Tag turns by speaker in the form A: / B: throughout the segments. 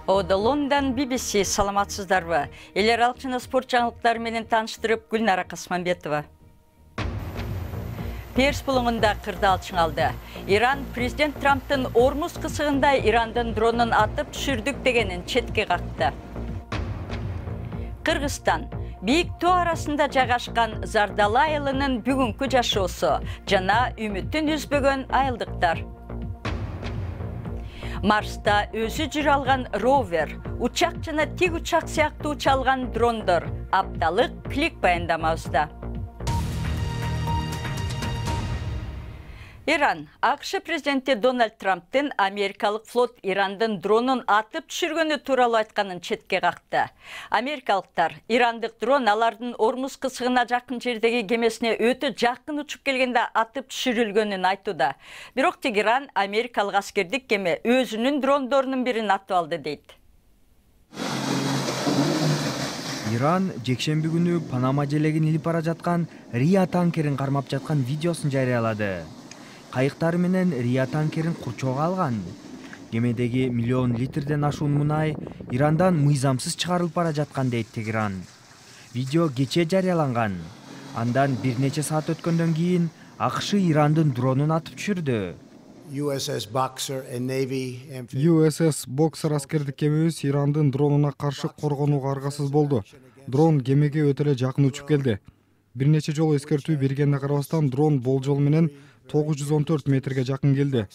A: Лондон BBC саламатсыздарбы? Эл аралык жана спорт жаңылыктары менен тааныштырып Гүлнара Касманбетова. Перс булуңунда кырдаал чыңалды. Иран президент Трамптын Ормуз кысыгында Ирандын дронун атып түшүрдүк дегенин четке какты. Кыргызстан Бийик тоо арасында жайгашкан Зардал айылынын бүгүнкү жашоосу жана үмүтүн үзбөгөн айылдыктар. Марста өзү жүрө алган ровер, учак жана тик учак сыяктуу уча алган дрондор апталык клик баяндамабызда. Иран, АКШ президенти Дональд Трамптын америкалык флот Ирандын дронун атып түшүргөнү тууралуу айтканын четке какты. Америкалыктар ирандык дрон алардын Ормуз кысыгына жакын жердеги кемесине өтө жакын учуп келгенде атып түшүрүлгөнүн айтууда. Бирок Тегеран америкалык аскердик кеме өзүнүн дрондорунун бирин атып алды дейт.
B: Иран жекшемби күнү Панама желегин илип бара жаткан Риа танкерин кармап жаткан видеосун жарыялады. Кайыктары менен Риа танкерин курчоого алган. Кемедеги миллион литрден ашуун мунай Ирандан мыйзамсыз чыгарылып бара жаткан дейт Тегеран. Видео кечээ жарыяланган. Андан бир нече саат өткөндөн кийин АКШ Ирандын дронун атып түшүрдү.
C: USS Boxer аскердик кемебиз Ирандын дронуна каршы коргонууга аргасыз болду. Дрон кемеге өтө эле жакын учуп келди. Бир нече жолу эскертүү бергенине карабастан дрон болжол менен 914 метрге жакын келди.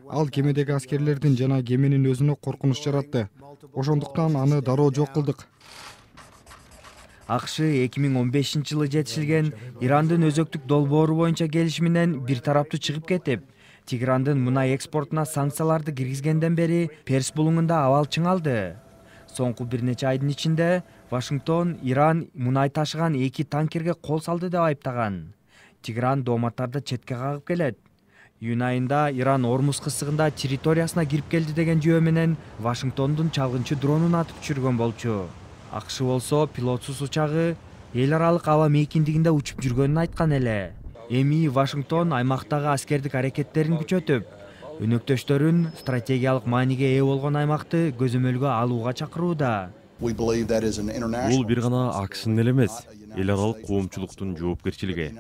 C: Ал кемедеги аскерлердин жана кеменин өзүнө коркунуч жаратты. Ошондуктан аны дароо жок кылдык.
B: АКШ 2015-жылы жетишилген Ирандын өзөктүк долбоору боюнча келишиминен бир тараптуу чыгып кетип, Тегерандын мунай экспортуна санкцияларды киргизгенден бери Перс булуңунда абал чыңалды. Соңку бир нече айдын ичинде Вашингтон Иран мунай ташыган 2 танкерге кол салды деп айыптаган. Тегеран дооматтарды четке кагып келет. Июнь айында Иран Ормуз кысыгында территориясына кирип келди деген жөө менен Вашингтондун чалгынчы дронун атып түшүргөн болчу. АКШ болсо пилотсуз учагы эл аралык аба мейкиндигинде учуп жүргөнүн айткан эле. Эми Вашингтон аймактагы аскердик аракеттерин күчөтүп, өнөктөштөрүн стратегиялык мааниге ээ болгон аймакты көзөмөлгө алууга чакырууда.
D: Бул бир гана АКШнын эле эмес, эл аралык коомчулуктун жоопкерчилиги.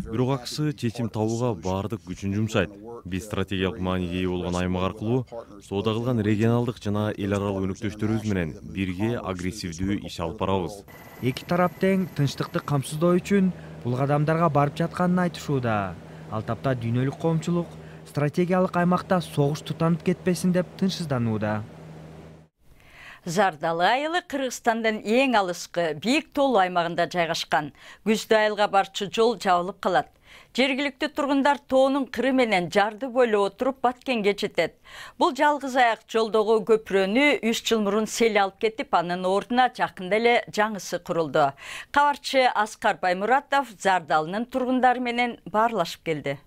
D: Бирок АКШ чечим табууга баардык күчүн жумшайт. Биз стратегиялык мааниге ээ болгон аймак аркылуу соода кылган регионалдык жана эл аралык өнөктөштөрүбүз менен бирге агрессивдүү иш алып барабыз.
B: Эки тарап тең тынчтыкты камсыздоо үчүн бул кадамдарга барып жатканын айтышууда. Ал тапта дүйнөлүк коомчулук стратегиялык аймакта согуш тутанып кетпесин деп тынчсызданууда.
A: Зардал айылы Кыргызстандын эң алыскы бийик тоолуу аймагында жайгашкан. Күздө айылга барчу жол жабылып калат. Жергиликтүү тургундар тоонун кыры менен жарды бойлоп отуруп Баткенге жетет. Бул жалгыз аяк жолдогу көпүрөнү 3 жыл мурун сел алып кетип, анын ордуна жакында эле жаңысы курулду. Кабарчы Аскар Баймуратов Зардалынын тургундары менен баарлашып келди.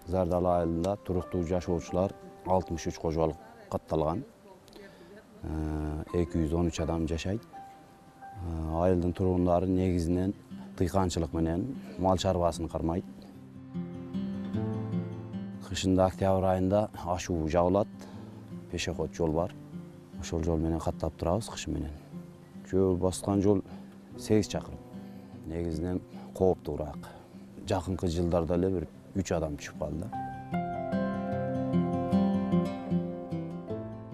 E: Зардал айылында туруктуу жашоочулар 63 кожолук катталган. 213 адам жашайт. Айылдын тургундары негизинен дыйканчылык менен мал чарбасын кармайт. Кышында октябрь айында ашуу жабылат. Пешеход жол бар. Ошол жол менен каттап турабыз кыш менен. Жөө баскан жол 8 чакырым. Негизинен кооптуураак. Жакынкы жылдарда эле бир 3 адам түшүп калды.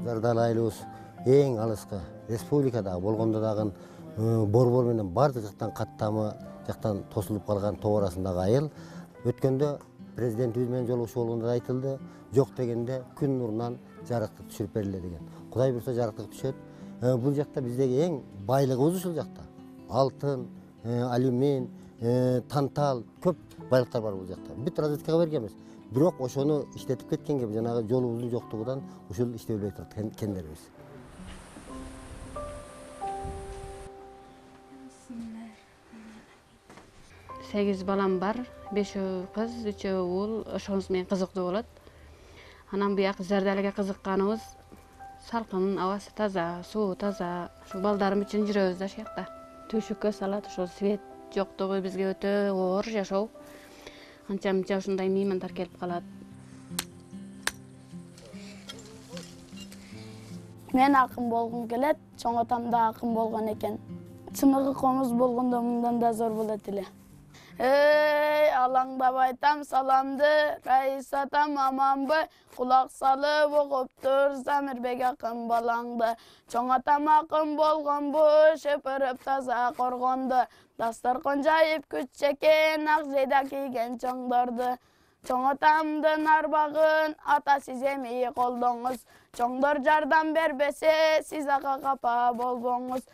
F: Зардал айылыбыз эң алыскы республикада болгондо дагы борбор менен бардык жактан каттамы жактан тосулуп калган тоо арасындагы айыл. Өткөндө президентибиз менен жолугушуу болгондо айтылды, жок дегенде күн нурунан жарыктык түшүрүп бериле деген. Кудай буйрса жарыктык түшөт. Бул жакта биздеги эң байлыгыбыз ушул жакта. Алтын, алюмин, тантал, көп байлыктар бар бул жакта. Бүт разведкага бергенбиз. Бирок ошону иштетип кеткенге жанагы жолубуздун жоктугунан ушул иштебей турат кендерибиз.
G: Сегиз балам бар, 5 кыз, 3 уул, ошонус менен кызыктуу болот. Анан бияк Зардалга кызыкканыбыз Салкын, абасы таза, суу таза. Ушу балдарым үчүн жүрөбүз да шуякта. Төшөккө салат, ошол свет жоктугу бизге өтө оор жашоо. Анча-мынча ушундай меймандар келип калат.
H: Мен акын болгум келет, чоң атам да акын болгон экен. Чыныгы комуз болгондо мындан да зор болот эле. Эй, алаңдап айтам саламды, Раис атам аманбы, кулак салып окуптур Замирбек акын балаңды. Чоң атам акын болгонбу, шөпөрүп таза коргонду, дасторкон жайып күчекен, ак жейда кийген чоңдорду. Чоң атамдын арбагын ата сиз эми колдоңуз, чоңдор жардам бербесе, сиз ага капа болбоңуз.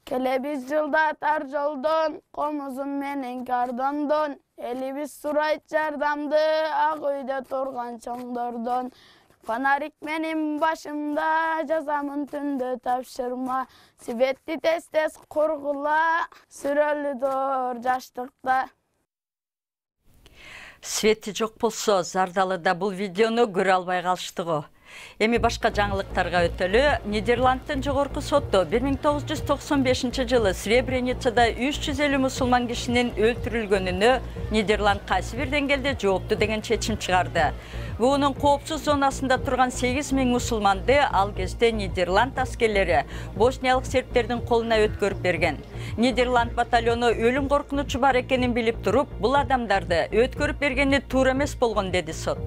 H: Келебиз жылда тар жолдон, комузум менен кардондон, элибиз сурайт жардамды, ак үйдө турган чоңдордон. Фонарик менин башымда, жазамын түндө тапшырма, светти тез-тез кургула, сүрөлүдөр жаштыкта.
A: Свети жок болсо, Зардалыда бул видеону көрө албай калыштыгы. Эми башка жаңылыктарга өтөлү. Нидерландтын жогорку соту 1995-жылы Сребреницада 350 мусулман кишинин өлтүрүлгөнүнө Нидерланд кайсы бир деңгээлде жоопту деген чечим чыгарды. Буунун коопсуз зонасында турган 8000 мусулманды ал кезде Нидерланд аскерлери босниялык сербтердин колуна өткөрүп берген. Нидерланд батальону өлүм коркунучу бар экенин билип туруп, бул адамдарды өткөрүп бергени туура эмес болгон, деди сот.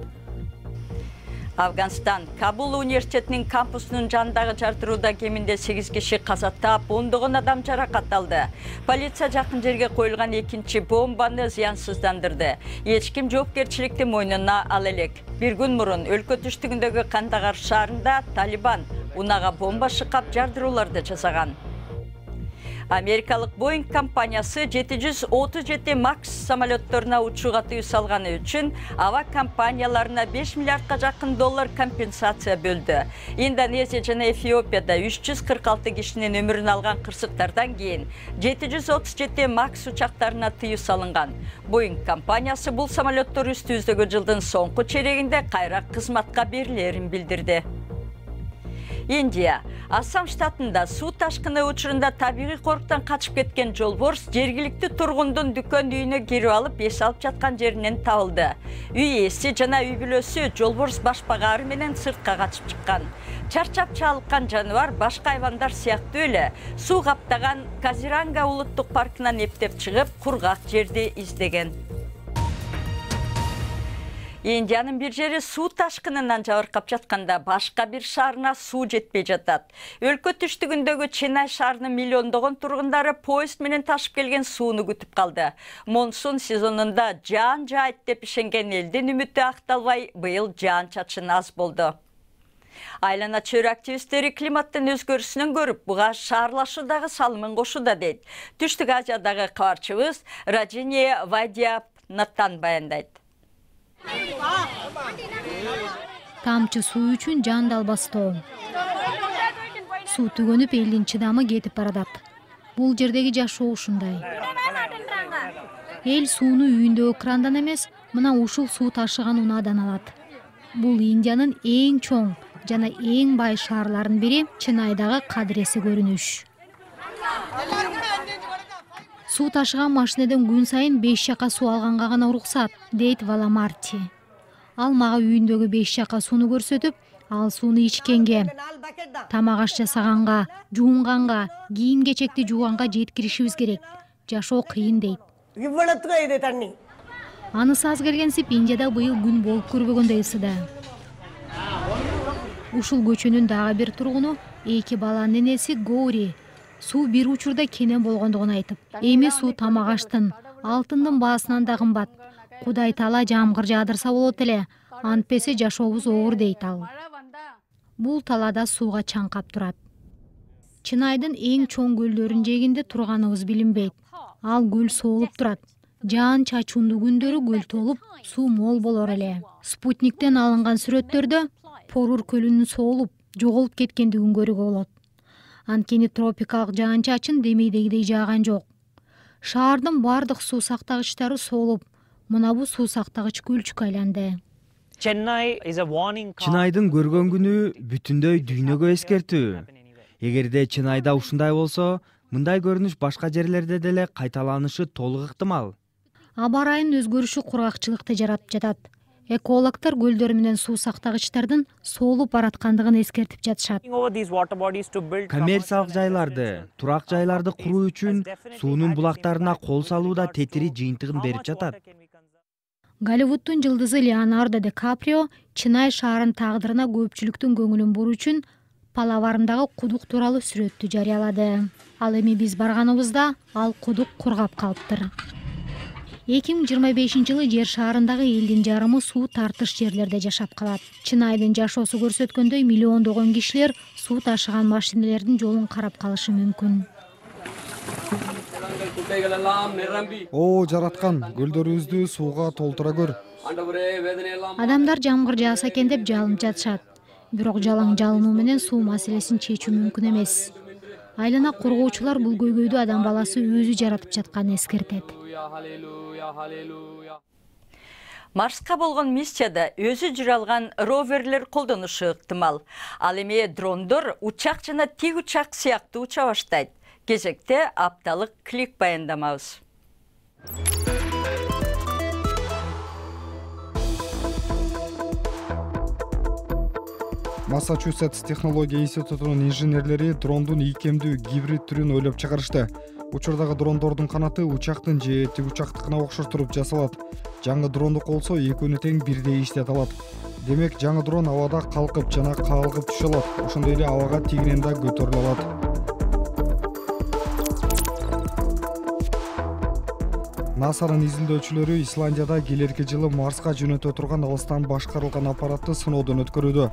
A: Афганистан Кабул университетинин кампусунун жанындагы жартырууда кеминде 8 киши каза таап, ондогон адам жаракат алды. Полиция жакын жерге коюлган экинчи бомбаны зыянсыздандырды. Эч ким жоопкерчиликти мойнуна ала элек. Bir күн мурун өлкө түштүгүндөгү Кандагар шаарында Талибан унага бомба шыкап жардырууларды жасаган. Америкалык Boeing компаниясы 737 Max самолетторуна учууга тыюу салганы үчүн аба компанияларына 5 миллиардка жакын доллар компенсация бөлдү. Индонезия жана Эфиопияда 346 кишинин өмүрүн алган кырсыктардан кийин 737 Max учактарына тыюу салынган. Boeing компаниясы бул самолеттор үстүбүздөгү жылдын соңку чейрегинде кайра кызматка берилерин билдирди. Индия Ассам штатында суу ташкыны учурунда табигый корктон качып кеткен жолборс жергиликтүү тургундун дүкөн үйүнө кирип алып эс алып жаткан жеринен табылды. Үй ээси жана үй бүлөсү жолборс башпагары менен сыртка качып чыккан. Чарчап чалыккан жаныбар башка айвандар сыяктуу эле суу каптаган Казиранга улуттук паркынан эптеп чыгып, кургак жерди издеген. Индиянын бир жери суу ташкынынан жабыркап жатканда башка бир шаарына суу жетпей жатат. Өлкө түштүгүндөгү Ченай шаарынын миллиондогон тургундары поезд менен ташып келген сууну күтүп калды. Монсун сезонунда жаан жаайт деп ишенген элдин үмүтү акталбай, быйыл жаан-чачын аз болду. Айлана чөйрө активисттери климаттын өзгөрүшүнөн көрүп, буга шаарлашуудагы салымын кошууда дейт. Түштүк Азиядагы кабарчыбыз Раджиния Вайдиапнаттан баяндайт.
I: Тамчы суу үчүн жан далбастоо. Суу түгөнүп элдин чыдамы кетип баратат. Бул жердеги жашоо ушундай. Эл сууну үйүндөгү крандан эмес, мына ушул суу ташыган унаадан алат. Бул Индиянын эң чоң жана эң бай шаарларынын бири Ченайдагы кадыреси көрүнүш. Суу ташыган машинеден күн сайын 5 чака суу алганга гана уруксат, дейт Валамарти. Ал мага үйүндөгү 5 чака сууну көрсөтүп, ал сууну ичкенге, тамак аш жасаганга, жуунганга, кийим-кечекти жууганга жеткиришибиз керек. Жашоо кыйын дейт. Анысы аз келгенсип Индияда быйыл күн болуп көрбөгөндөй ысыда. Ушул көчөнүн дагы бир тургуну 2 баланын энеси Гори суу бир учурда кенен болгондугун айтып, эми суу тамак аштын, алтындын баасынан да кымбат. Кудай таала жамгыр жаадырса болот эле, антпесе жашообуз оор дейт ал. Бул талаада сууга чаңкап турат. Чынайдын эң чоң көлдөрүнүн жээгинде турганыбыз билинбейт. Ал көл соолуп турат. Жаан чачуундуу күндөрү көл толуп, суу мол болор эле. Спутниктен алынган сүрөттөрдө Порур көлүнүн соолуп, жоголуп кеткендигин көрүүгө болот. Анткени тропикалык жаан-чачын демейдегидей жааган жок. Шаардын бардык суу сактагычтары соолуп, мына бул суу сактагыч көлчүккө айланды.
B: Чынайдын көргөн күнү бүтүндөй дүйнөгө эскертүү. Эгерде Чынайда ушундай болсо, мындай көрүнүш башка жерлерде деле кайталанышы толук ыктымал.
I: Аба ырайынын өзгөрүшү кургакчылыкты жаратып жатат. Экологдор көлдөр менен суу сактагычтардын соолуп бараткандыгын эскертип жатышат.
B: Коммерциялык жайларды, турак жайларды куруу үчүн суунун булактарына кол салууда тетири жыйынтыгын берип жатат.
I: Голливуддун жылдызы Леонардо Ди Каприо Чынай шаарынын тагдырына көпчүлүктүн көңүлүн буруу үчүн Палаварымдагы кудук тууралуу сүрөттү жарыялады. Ал эми биз барганыбызда ал кудук кургап калыптыр. 2025-жылы жер шаарындагы элдин жарымы суу тартыш жерлерде жашап калат. Чынайдын жашоосу көрсөткөндөй миллиондогон кишилер суу ташыган машиналердин жолун карап калышы мүмкүн.
C: О, жараткан, көлдөрүбүздү сууга толтура көр.
I: Адамдар жамгыр жааса экен деп жалынып жатышат. Бирок жалаң жалынуу менен суу маселесин чечүү мүмкүн эмес. Айлана коргоочулар бул көйгөйдү адам баласы өзү жаратып жатканын эскертет.
A: Марска болгон миссияда өзү жүрө алган роверлер колдонушу ыктымал. Ал эми дрондор учак жана тик учак сыяктуу уча баштайт. Кезекте апталык клик баяндамабыз.
C: Массачусетс технология институтунун инженерлери дрондун ийкемдүү гибрид түрүн ойлоп чыгарышты. Учурдагы дрондордун канаты учактын же тик учактыкына окшоштуруп жасалат. Жаңы дрондук болсо экөөнү тең бирдей иштете алат. Демек жаңы дрон абада калкып жана каалгып түшө алат. Ошондой эле абага тигинен да көтөрүлө алат. НАСА'нын изилдөөчүлөрү Исландияда келерки жылы Марска жөнөтө турган алыстан башкарылган аппаратты сыноодон өткөрүүдө.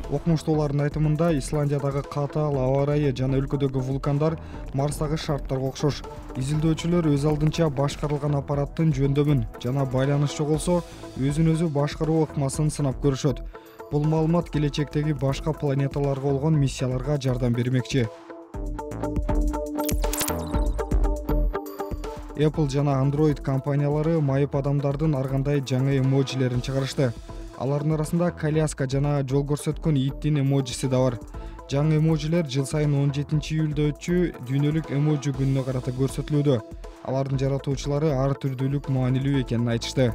C: Окумуштуулардын айтымында Исландиядагы катаал аба ырайы жана өлкөдөгү вулкандар Марстагы шарттарга окшош. Изилдөөчүлөр өз алдынча башкарылган аппараттын жөндөмүн жана байланыш жоголсо өзүн өзү башкаруу ыкмасын сынап көрүшөт. Бул маалымат келечектеги башка планеталарга болгон миссияларга жардам бермекчи. Apple жана Android компаниялары майып адамдардын ар кандай жаңы эмоджилерин чыгарышты. Алардын арасында коляска жана жол көрсөткөн иттин эмоджиси да бар. Жаңы эмоджилер жыл сайын 17-июлда өтчү дүйнөлүк эмоджи күнүнө карата көрсөтүлүүдө. Алардын жаратуучулары ар түрдүүлүк маанилүү экенин айтышты.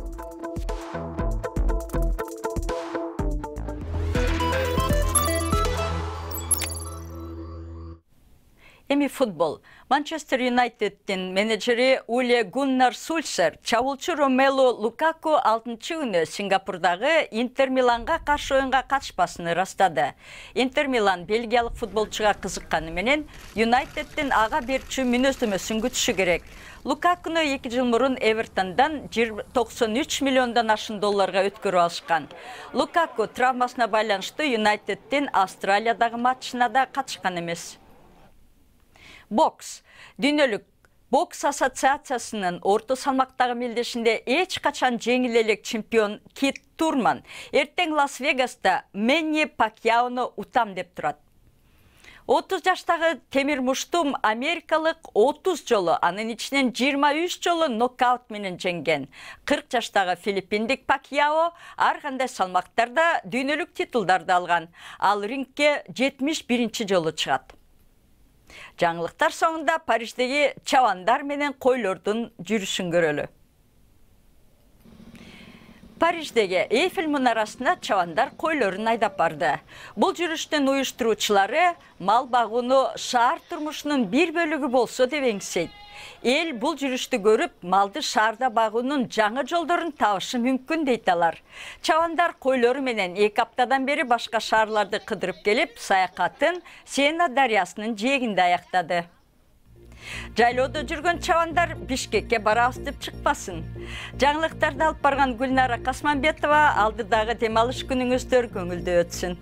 A: Эми футбол. Манчестер Юнайтеддин менеджери Уле Гуннар Сульшер чабуулчу Ромелу Лукаку 6-күнү Сингапурдагы Интер Миланга каршы оюнга катышпасын ырастады. Интер Милан бельгиялык футболчуга кызыкканы менен Юнайтеддин ага берчү мүнөздөмөсүн күтүшү керек. Лукакуну 2 жыл мурун Эвертондон 93 миллиондон ашын долларга өткөрүп алышкан. Лукаку травмасына байланыштуу Юнайтеддин Австралиядагы матчына да катышкан эмес. Бокс. Дүйнөлүк бокс ассоциациясынын орто салмактагы мелдешинде эч качан жеңил элек чемпион Кит Турман эртең Лас-Вегаста Мэнни Пакьяону утам деп турат. 30 жаштагы темир муштум америкалык 30 жолу, анын ичинен 23 жолу нокаут менен жеңген. 40 жаштагы филиппиндик Пакьяо ар кандай салмактарда дүйнөлүк титулдарды алган. Ал рингке 71 жолу чыгат. Жаңылыктар соңунда Париждеги чабандар менен койлордун жүрүшүн көрөлү. Париждеги Эйфель мунарасына чабандар койлорун айдап барды. Бул жүрүштүн уюштуруучулары мал багууну шаар турмушунун бир бөлүгү болсо деп эңсейт. Эл бул жүрүштү көрүп, малды шаарда багуунун жаңы жолдорун табышы мүмкүн дейт алар. Чабандар койлору менен 2 аптадан бери башка шаарларды кыдырып келип, саякатын Сена дарыясынын жээгинде аяктады. Жайлоодо жүргөн чабандар Бишкекке барабыз деп чыкпасын. Жаңылыктарды алып барган Гүлнара Касманбетова, алдыдагы дем алыш күнүңүздөр көңүлдүү өтсүн.